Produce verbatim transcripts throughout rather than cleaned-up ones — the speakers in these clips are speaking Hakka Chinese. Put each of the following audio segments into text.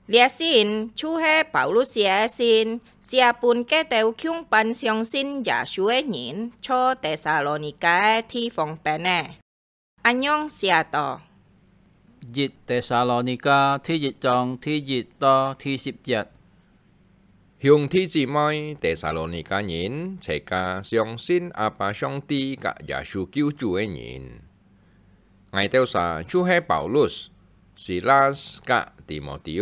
這信就係保羅寫个信，寫分該兜共般相信耶穌个人，在帖撒羅尼迦个地方般个。恁樣寫到：一帖撒羅尼迦第一章第一到第十節。兄弟姊妹，帖撒羅尼迦人，齊家相信阿爸上帝佮耶穌救主个人。𠊎兜儕就係保羅、西拉佮提摩提。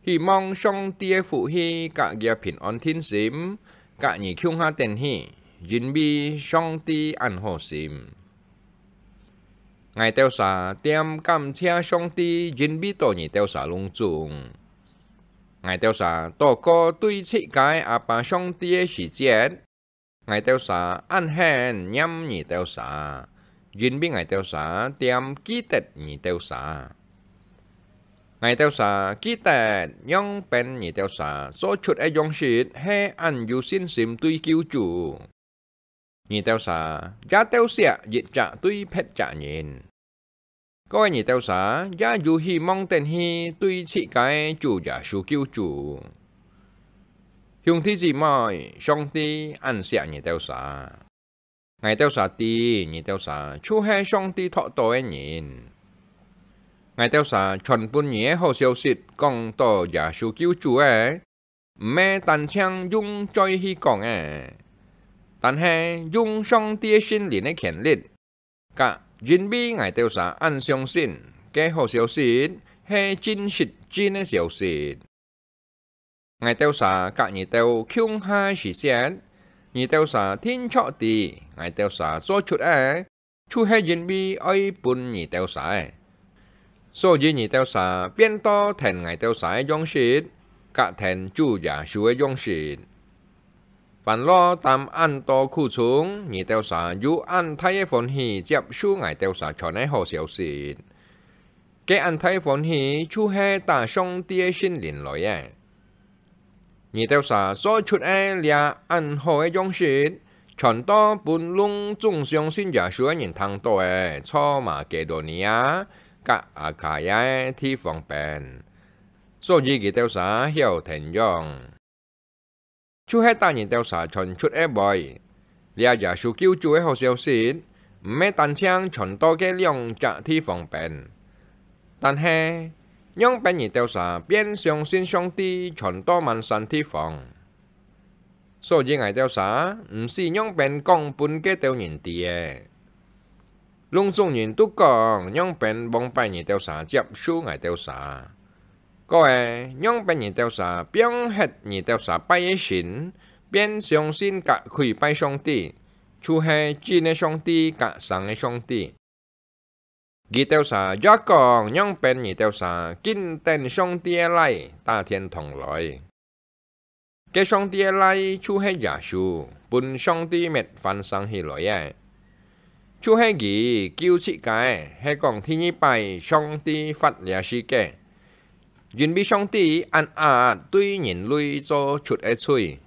希望上帝个福氣佮佢个平安定心，佮你共下等起，因為上帝恁好心。𠊎兜儕恬感謝上帝，因為著你兜儕攏總。𠊎兜儕禱告對自家个阿爸上帝个時節， 𠊎兜儕恁恨念你兜儕，因為𠊎兜儕恬記得你兜儕。𠊎兜儕記得仰般你兜儕做出个樣式係恁有信心對救主。你兜儕也鬥惜一隻對別隻人。 各位，你兜儕也有希望等起對自家个主耶穌救主。兄弟姊妹，上帝恁惜你兜儕。𠊎兜儕知，你兜儕就係上帝擇到个人。𠊎兜儕傳分你个好消息，講著耶穌救主个， 毋係單淨用嘴去講个，但係用上帝个聖靈个權力，佮因為𠊎兜儕恁相信，該好消息係真實真个消息。𠊎兜儕佮你兜共下个時節，你兜儕定著知，𠊎兜儕做出个 就係因為愛分你兜儕个。所以你兜儕變到跈𠊎兜儕个樣式，佮跈主耶穌个樣式。凡落擔恁多苦衷，你兜儕有恁大个歡喜接受𠊎兜儕傳个好消息。該恁大个歡喜，就係打上帝个聖靈來个。 你兜儕做出个這恁好个樣式，傳到分攏總相信耶穌个人聽著个，在馬其多尼亞佮亞該亞个地方般。所以佢兜儕曉𢯭樣。就係打你兜儕傳出个話，這耶穌救主个好消息，毋係單淨傳到該兩隻地方般， 但係，仰般你兜儕變相信上帝傳到滿山地方。所以𠊎兜儕毋使仰般講分該兜人知个。攏總人都講仰般往擺你兜儕接受𠊎兜儕。各位，仰般你兜儕放忒你兜儕拜个神，變相信佮跪拜上帝，就係真个上帝佮生个上帝。 佢兜儕也講仰般你兜儕緊等上帝个倈打天堂來。該上帝个倈就係耶穌，分上帝搣翻生起來个。就係佢救自家，係講第二擺上帝發這世界，因為上帝恁壓對人類做出个罪，